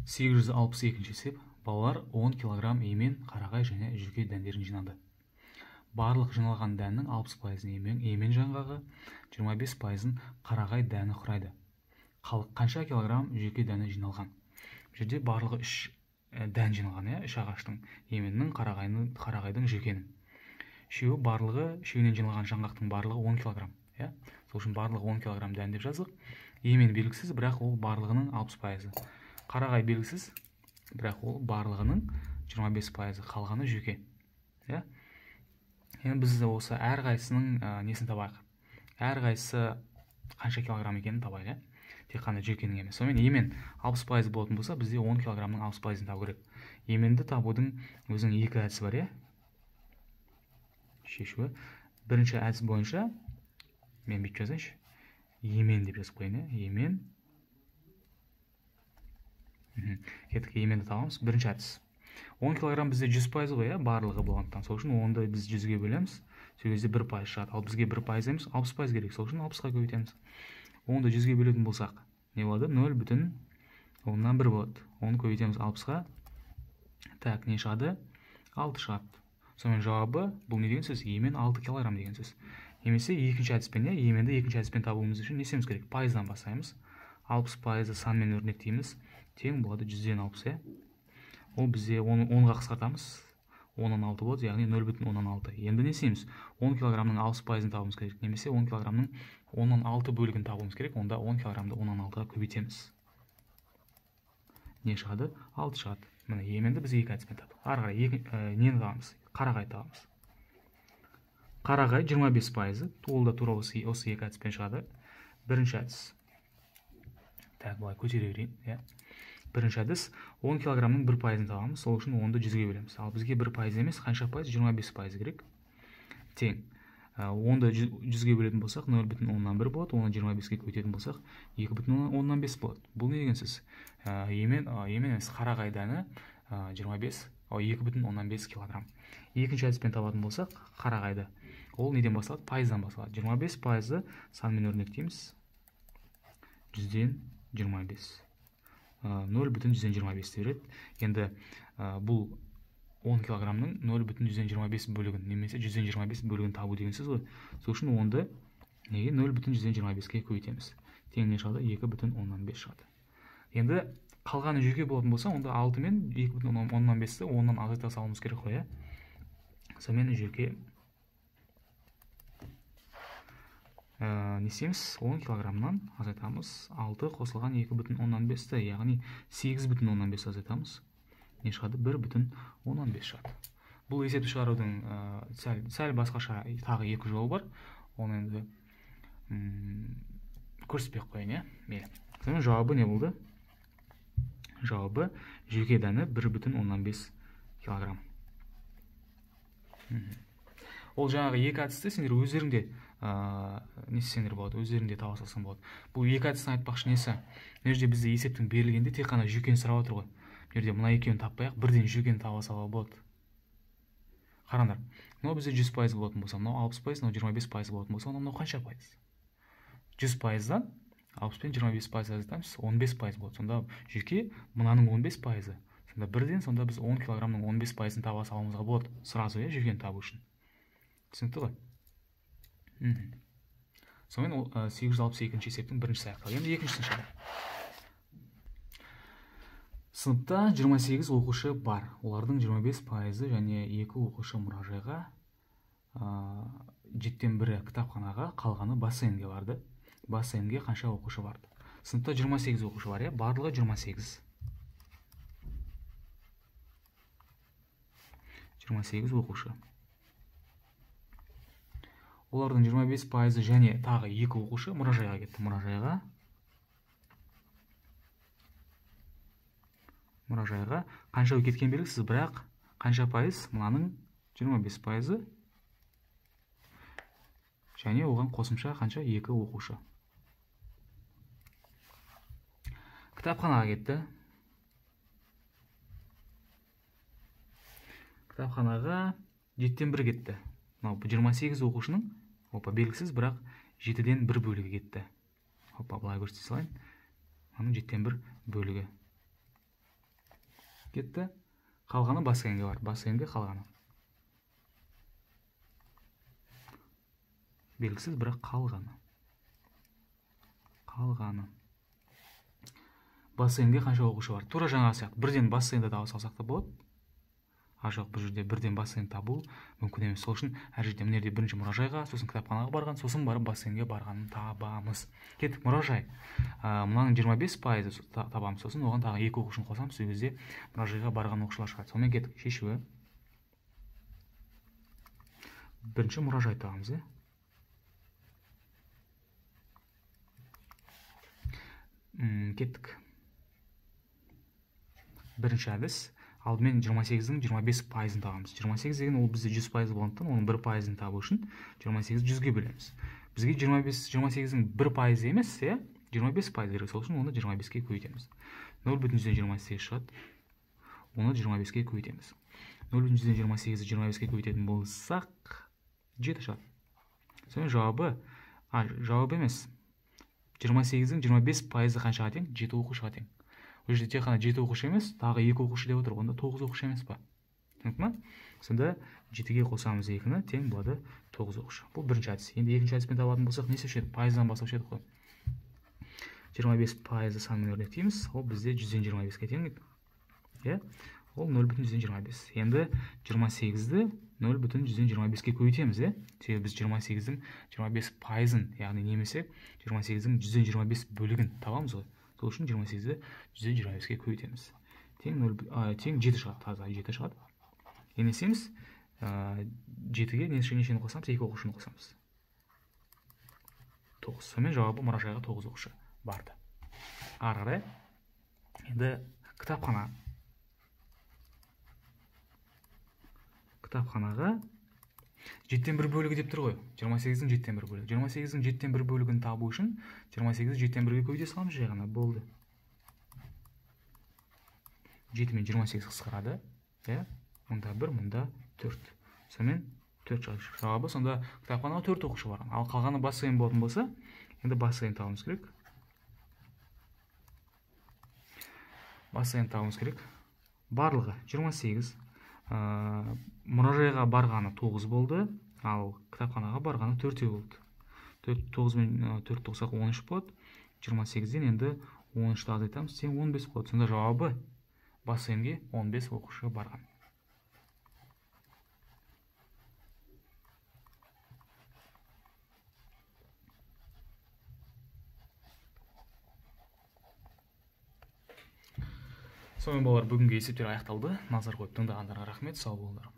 862 есеп. Балалар 10 килограмм емен, қарағай және жүке дәндерін жинады. Барлық жиналған дәннің 60% емен жаңғағы, 25% қарағай дәні құрайды. Қанша килограмм жүке дәні жиналған? Бұл жерде барлығы 3 дән жиналған, 3 ағаштың, еменнің, қарағайдың, жүкенің. Үшеуінен жиналған жаңғақтың барлығы 10 килограмм. Сол үшін барлығы 10 килограмм дән деп жаздық. Емен белгісіз, бірақ ол барлығының 60%. Қарағай белгісіз, бірақ ол барлығының 25%, қалғаны жүке. Енді біз осы әрқайсының несін табайық? Әрқайсысы қанша килограмм екенін табайық, тек қана жүкенің емес. Сонымен емен 60% болатын болса, бізде 10 килограммның 60%-ын табу керек. Еменді табудың өзінің 2 әдісі бар, шешуі. Бірінші әдіс бойынша мен бүйтіп жазайыншы. Емен деп жазып қойын, емен. Кеттік, еменді табамыз. Бірінші әдіс. 10 килограмм бізде 100% ғой, барлығы болғандықтан. Сол үшін 10-ды біз 100-ге бөлеміз. Сол кезде 1% шығады. Ал бізге 1% емес, 60% керек. Сол үшін 60-ға көбейтеміз. 10-ды 100-ге бөлетін болсақ, не болады? 0,1 болады. 10-ды көбейтеміз 60-ға. Так, не шығады? 6 шығады. Сонымен жауабы, бұл не деген сөз? Емен 6 килограмм деген сөз. Немесе екінші әдіспен, еменді екінші әдіспен табуымыз үшін не істеуіміз керек? Пайыздан бастаймыз. 60% санмен өрнектейміз. Тең болады 100-ден 60. Ол бізде 10-ға қысқартамыз. 10-6 болады, яғни 0,16. Енді не істейміз? 10 килограммның 60%-ын табуымыз керек. Немесе 10 килограммның 10-6 бөлігін табуымыз керек. Онда 10 килограммды 10-6-ға көбейтеміз. Не шығады? 6 шығады. Міне, еменді біз екі әдіспен таптық. Ары қарай нені табамыз? Қарағай табамыз. Қарағай 25%. Ол да тура осы екі әдіспен шығады. Бірінші әдіс. Так, бұлай көтере берейін. Бірінші әдіс 10 килограммның 1%-ын табамыз. Сол үшін 10-ды 100-ге бөлеміз. Ал бізге 1% емес, қанша пайыз? 25% керек. Тең. 10-ды 100-ге бөлетін болсақ, 0,1 болады. Оны 25-ге көбейтетін болсақ, 2,5 болады. Бұл не деген сөз? Емен емес, қарағай дәні 2,5 килограмм. Екінші әдіспен табатын болсақ, қарағайды. Ол неден басталады? Пайыздан басталады. 25%-ды санмен өрнектейміз. 100-ден 25. 0,125 береді. Енді бұл 10 килограммның 0,125 бөлігін, немесе 125 бөлігін табу деген сөз ғой. Сол үшін 10-ды неге 0,125-ке көбейтеміз. Тең не шығады? 2,15 шығады. Енді қалғаны жүке болатын болса, онда 6 мен 2,15-ті 10-нан азайта салуымыз керек қой. Сонымен жүке не істейміз? 10 килограммнан азайтамыз. 6 қосылған 2,15-ті, яғни 8,15 азайтамыз. Не шығады? 1,15 шығады. Бұл есепті шығарудың сәл басқаша тағы 2 жолы бар. Оны енді көрсетпей қойын, мейлі. Сонымен жауабы не болды? Жауабы жүке дәні 1,15 килограмм. Ол жаңағы екі әдісті сендер өздеріңде не істесеңдер болады, өздеріңде таба салсаң болады. Бұл екі әдістің айтпақшы несі? Мына жерде бізде есептің берілгенде тек қана жүкені сұрап отыр ғой. Мына жерде мына екеуін таппай-ақ, бірден жүкені таба салуға болады. Қараңдар, мынау бізде 100% болатын болса, мынау 60%, мынау 25% болатын болса, мынау қанша пайыз? 100%-дан 60 пен 25% азайтамыз, 15% болады. Сонда жүке мынаның 15%. Сонда бірден сонда біз 10 килограммның 15%-ын таба салуымызға болады. Сразу жүкені табу үшін. Түсінікті ғой? Сонымен 862 есептің біріншісі аяқталды. Енді екіншісін шығарайық. Сыныпта 28 оқушы бар. Олардың 25% және 2 оқушы мұражайға, 7-1 кітапханаға, қалғаны бассейнге барды. Бассейнге қанша оқушы барды? Сыныпта 28 оқушы бар, барлығы 28. 28 оқушы. Олардың 25% және тағы 2 оқушы мұражайға кетті. Мұражайға қанша кеткен белгісіз, бірақ қанша пайыз? Мынаның 25% және оған қосымша қанша? 2 оқушы. Кітапханаға кетті. Кітапханаға 7-1 кетті. 28 оқушының белгісіз, бірақ 7-ден 1 бөлігі кетті. Былай көрсете салайын. Оның 7-1 бөлігі. кетті. Қалғаны бассейнге бар. Бассейнге қалғаны. Белгісіз, бірақ қалғаны. Бассейнге қанша оқушы бар? Тура жаңа сияқты. Бірден бассейнді таба салсақ та болады. Жоқ, бұл жерде бірден бассейн табу мүмкін емес. Сол үшін әр жерде мына жерде бірінші мұражайға, сосын кітапханаға барған, сосын барып бассейнге барғанын табамыз. Кеттік, мұражай. Мынаның 25% табамыз. Сосын оған тағы 2 оқушыны қосамыз. Сол кезде мұражайға барған оқушылар шығады. Сонымен кеттік, шешуі. Бірінші мұражай табамыз, кеттік. Бірінші әдіс. Алдымен 28-дің 25%-ын табамыз. 28 деген ол бізде 100% болғандықтан, оның 1%-ын табу үшін 28-ді 100-ге бөлеміз. Бізге 28-дің 1% емес, 25% керек. Сол үшін оны 25-ге көбейтеміз. 0,28 шығады. Оны 25-ге көбейтеміз. 0,28-ді 25-ге көбейтетін болсақ, 7 шығады. Сонымен жауабы емес. 28-дің 25%-ы қаншаға тең? 7 оқушыға тең. Бұл жерде тек қана 7 оқушы емес, тағы 2 оқушы деп отыр. Онда 9 оқушы емес па? Түсінікті ме? Сонда 7-ге қосамыз 2-ні, тең болады 9 оқушы. Бұл бірінші әдіс. Енді екінші әдіспен табатын болсақ, не істеуші еді? Пайыздан бастаушы едік қой. 25% санмен өрнектейміз. Ол бізде 100-25-ге тең еді. Ол 0,125. Енді 28-ді 0,125-ге көбейтеміз, себебі біз 28-дің 25%-ын, яғни немесе 28-дің 125 бөлігін табамыз ғой. Сол үшін 28-ді 125-ге көбейтеміз. Тең 7 шығады, таза 7 шығады. Енесеміз 7-ге нешені қосамыз? 2 оқушыны қосамыз. 9. Сонымен жауабы мұражайға 9 оқушы барды. Ары қарай. Енді кітапханаға 7-тен 1 бөлігі деп тұр ғой. 28-дің 7-тен 1 бөлігі. 28-дің 7-тен 1 бөлігін табу үшін 28-ді 7-тен 1-ге көбейте саламыз, жай ғана болды. 7 мен 28 қысқарады. Мұнда 1, мұнда 4. Сонымен 4 шығады. Жауабы сонда кітапханаға 4 оқушы барған. Ал қалғаны бассейн болатын болса, енді бассейн табуымыз керек. Барлығы 28. Мұражайға барғаны 9 болды, ал кітапханаға барғаны 4 болды. 9 мен 4 тоқсақ 13 болады. 28-ден енді 13-ті азайтамыз, тең 15 болады. Сонда жауабы бассейнге 15 оқушы барған. Сонымен балалар, бүгінгі есептер аяқталды. Назар қойып тыңдағандарға рахмет, сау болыңдар.